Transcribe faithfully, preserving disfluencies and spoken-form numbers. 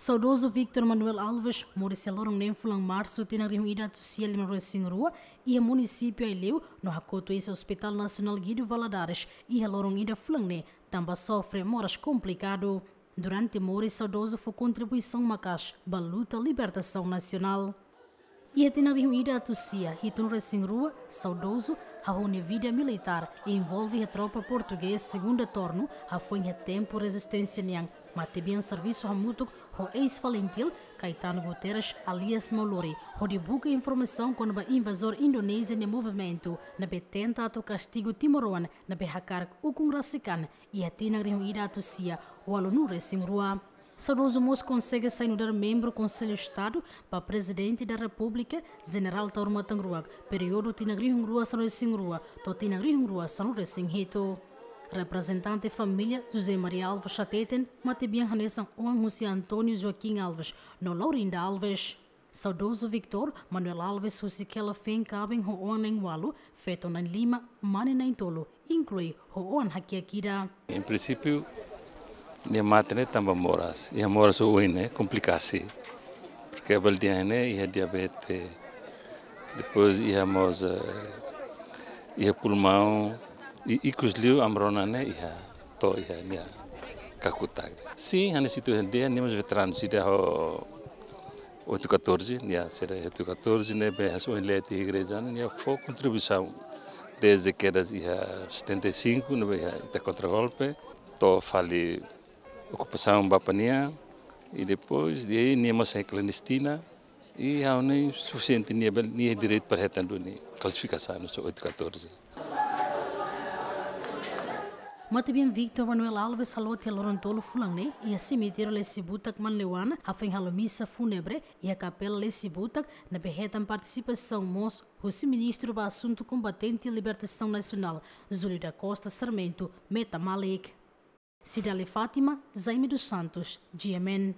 Saudozu Victor Manuel Alves moris iha loron neen fulan Marsu tinan rihun ida atus sia lima-nulu-resin-rua iha munisípiu Aileu no hakotu iha Hospital Nasionál Guido Valadares iha loron ida fulan ne'e tanba sofre moras komplikadu. Durante moris saudozu fó kontribuisaun maka'as ba luta libertasaun nasionál. Iha tinan rihun ida atus sia hitu-nulu-resin-rua, saudozu hahú nia vida militár, envolve iha tropa portugés Segunda Tornu, hafoin iha tempu rezisténsia nian, matebian servisu hamutuk ho eis-FALINTIL, Caetano Guterres, alias Maulori, hodi buka informasaun kona-ba invazór Indonézia nia movimentu, ne'ebé tenta atu kastigu timoroan ne'ebé hakarak ukun rasik an, iha tinan rihun ida atus sia ualu-nulu-resin-rua. Saudozu mós konsege sai nu'udar membru Konsellu Estadu ba Prezidente da Repúblika, Jenerál Taur Matan Ruak, períodu tinan rihun rua sanulu-resin-rua to'o tinan rihun rua sanulu-resin-hitu. Reprezentante família José Maria Alves hateten, matebian hanesan oan husi António Joaquim Alves no Laurinda Alves. Saudozu Victor Manuel Alves husi hela feen kaben ho oan na'in-ualu, feto na'in-lima, mane na'in-tolu, inklui ho oan hakiak ida. Em princípio, nia mate ne'e tanba moras. Iha moras oioin ne'e, komplikasi. Porque bele dehan ne'e iha diabetes, depois iha mós, eh, iha pulmaun, i ikus liu amarona ne'e iha to'o iha nia kakutak. Sin, hanesan ita dehan, nia mós veteranu sira ho oito catorze, nia sira oito catorze ne'ebé hanesan ohin lee tiha igreja, nia fó kontribuisaun desde kedas iha setenta e cinco, ne'ebé iha ita kontra golpe, to'o fali okupasaun ba pania, i depois de aí nia mós sai klandestina, i ha'u ne'e sufisiente nia bele, nia direitu para hetan duni klasifikasaun hanesan oito catorze. Matebian Victor Manuel Alves halot iha loron tolu fulan ne'e iha semitériu Lesi Butak Manleuana, hafoin halo misa fúnebre iha kapela Lesi Butak, ne'ebé hetan partisipasaun mós husi Ministru ba Asuntu Kombatente Libertasaun Nasionál, Júlio da Costa Sarmento Meta Malik. Cidalia Fátima, Jaime dos Santos, G M N.